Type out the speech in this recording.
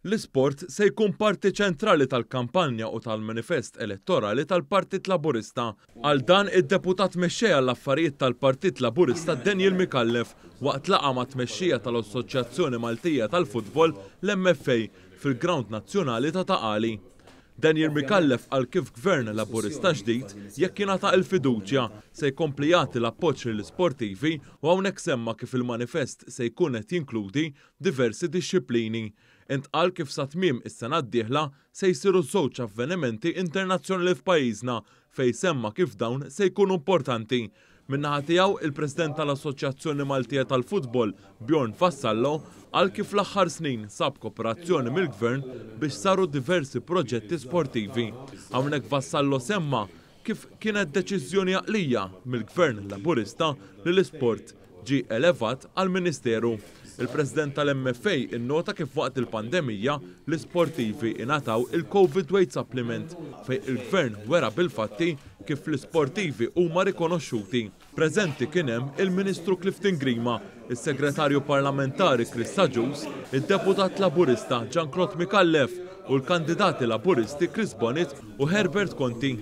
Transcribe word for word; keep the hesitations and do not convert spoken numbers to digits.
L-isport se jkun parti ċentrali tal-kampanja u tal-manifest elettorali tal-Partit Laburista. Għal dan id-deputat mexxej għall-affarijiet tal-Partit Laburista Daniel Micallef waqt laqgħa ma' tmexxija tal-Assoċjazzjoni Maltija tal-Futbol, l-M F A, fil-Ground Nazzjonali ta' Ta' Qali. Daniel Micallef qal kif gvern Laburista ġdid, jekk jingħata il-fiduċja, se jkompli jagħti l-appoġġ lill-isportivi u hawnhekk semma kif il-manifest se jkun qed jinkludi diversi dixxiplini. Intqal kif sa tmiem is-sena d-dieħla se jsiru żewġ avvenimenti internazzjonali f'pajjiżna, fejn semma kif dawn se jkunu importanti. Min-naħa tiegħu, il-President tal-Assoċjazzjoni Maltija tal-Futbol, Bjorn Vassallo, qal kif l-aħħar snin sab kooperazzjoni mill-Gvern biex saru diversi proġetti sportivi. Hawnhekk Vassallo semma kif kienet deċiżjoni għaqlija mill-Gvern Laburista li l-isport ġi elevat għal Ministeru. Il-President tal-M F A innota kif waqt il-pandemija l-isportivi ingħataw il-Covid Wage Supplement, fejn il-Gvern wera bil-fatti kif l-isportivi huma rikonoxxuti. Preżenti kien hemm il-Ministru Clifton Grima, is-Segretarju Parlamentari Chris Agius, id-Deputat Laburista Jean Claude Micallef u l-kandidati Laburisti Chris Bonett u Herbert Conti.